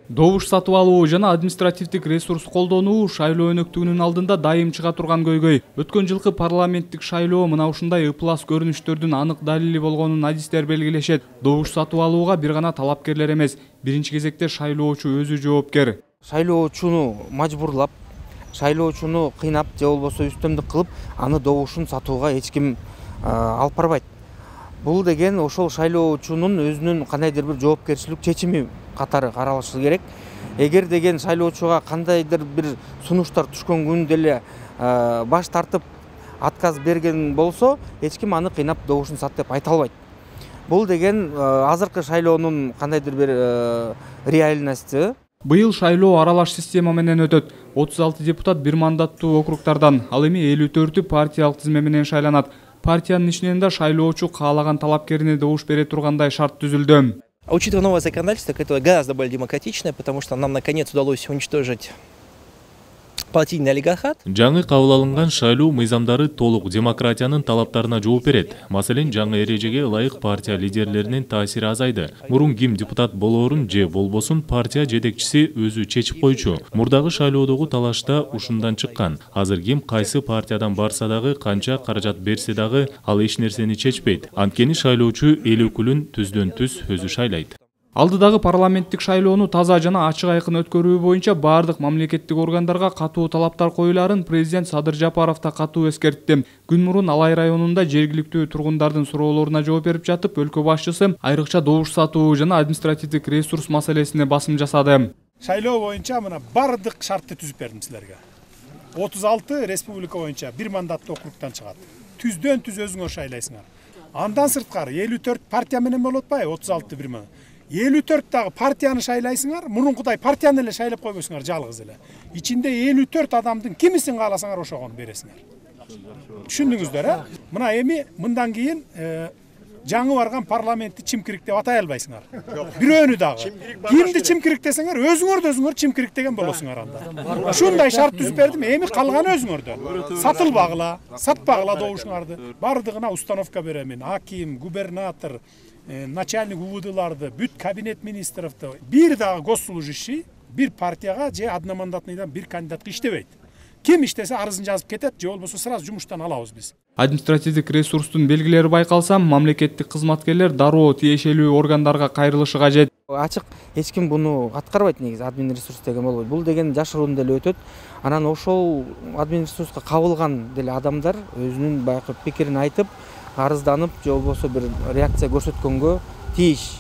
Добуш сатып алуу жана административдик ресурс колдонуу шайлоо өнөктүгүнүн алдында дайым чыга турган көйгөй. Өткөн жылкы парламенттик шайлоо мына ушундай ыплас көрүнүштөрдүн анык далили болгонун адистер белгилешет. Добуш сатып алууга бир гана талапкерлер эмес, биринчи кезекте шайлоочу өзү жоопкер. Шайлоочуну мажбурлап, шайлоочуну кыйнап же болбосо үстөмдүк кылып, аны добушун сатууга эч ким алып барбайт. Бул деген ошол шайлоочунун өзүнүн кандайдыр бир жоопкерчилик чечими катары каралышы керек. Эгер деген шайлоочуга кандайдыр бир сунуштар түшкөн күн деле баш тартып отказ берген болсо, эч ким аны кыйнап добушун сат деп айта албайт. Бул деген азыркы шайлоонун кандайдыр бир реальности. Быйыл шайлоо аралаш система менен өтөт. 36 депутат бир мандаттуу округтардан, ал эми 54-ü партиялык тизме менен шайланат. Партиянын ичинен да шайлоочу каалаган талапкерине добуш бере тургандай шарт түзүлдү. Учитывая новое законодательство, которое гораздо более демократичное, потому что нам наконец удалось уничтожить партийный олигархат. Жаңы кабыл алынган шайлоо мыйзамдары толук демократиянын талаптарына жооп берет. Маселен, жаңы эрежеге ылайык партия лидерлеринин таасири азайды. Мурун ким депутат болоорун же болбосун партия жетекчиси өзү чечип койчу. Мурдагы шайлоодогу талашта ушундан чыккан. Азыр ким кайсы партиядан барса дагы, канча каражат берсе дагы, ал эч нерсени чечпейт. Анткени шайлоочу эл өкүлүн түздөн түз өзү шайлайт. Алдыдагы парламенттик шайлоону таза жана ачык айкын өткөрүү боюнча бардык мамлекеттик органдарга катуу талаптар коюларын президент Садыр Жапаров да катуу эскертти. Күн мурун Алай районунда жергиликтүү тургундардын суроолоруна жооп берип жатып, өлкө башчысы айрыкча добуш сатуу жана административдик ресурс маселесине басым жасады. Шайлоо боюнча мына бардык шартты түзүп бердим силерге. 36 республика боюнча бир мандаттуу округтан чыгат. Түздөн түз өзүңөр шайлайсыңар. Андан сырткары 54 партия менен болуп атпайбы? 36 бир мандат. 54 дагы партияны шайлайсыңар, мурункудай партияны эле шайлап койбойсуңар жалгыз эле. Ичинде 54 адамдын кимисин кааласаңар ошогону бересиңер. Түшүндүңүздөр, Мына эми мындан кийин жаңы барган парламентти чимкирик деп атай албайсыңар. Бирөөнү дагы. Кимди чимкирик десеңер, өзүңөр чимкирик деген болосуңар анда. Ушундай шарт түзүп бердим, эми калганы өзүңөрдөн. Сатылбагыла, сатпагыла добушуңарды. Бардыгына установка беремин. Аким, губернатор, начальник УВДларды, бүт кабинет министровду, бир дагы госслужащий бир партияга же одномандатныйдан бир кандидатка иштебейт. Ким иштесе арызын жазып кетет, же болбосо сразу жумуштан алабыз биз. Административдик ресурстун белгилери байкалса, мамлекеттик кызматкерлер дароо тиешелүү органдарга кайрылышы кажет. Ачык эч ким буну аткарбайт негизи, админ ресурс деген болбойт. Бул деген жашыруун деле өтөт. Анан ошол админ ресурска кабылган деле адамдар өзүнүн баягы пикирин айтып, арызданып, же болбосо бир реакция көрсөткөнгө тийиш.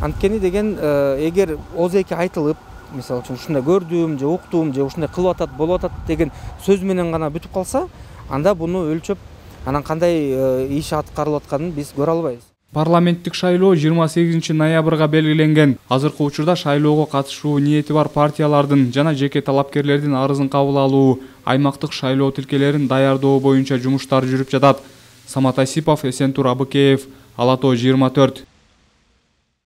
Анткени деген эгер озеки айтылып, мисалы үчүн ушундай көрдүм, же уктум, же ушундай кылып атат, болуп атат деген сөз менен гана бүтүп калса, анда буну өлчөп, анан кандай иш аткарылып атканын биз көрө албайбыз. Парламенттик шайлоо 28 ноябрга белгиленген. Азыркы учурда шайлоого катышуу ниети бар партиялардын жана жеке талапкерлердин арызын кабыл алуу, аймактык шайлоо тилкелерин даярдоо боюнча жумуштар жүрүп жатат. Самат Асипов, Эсентур Абыкеев, Ала Тоо 24.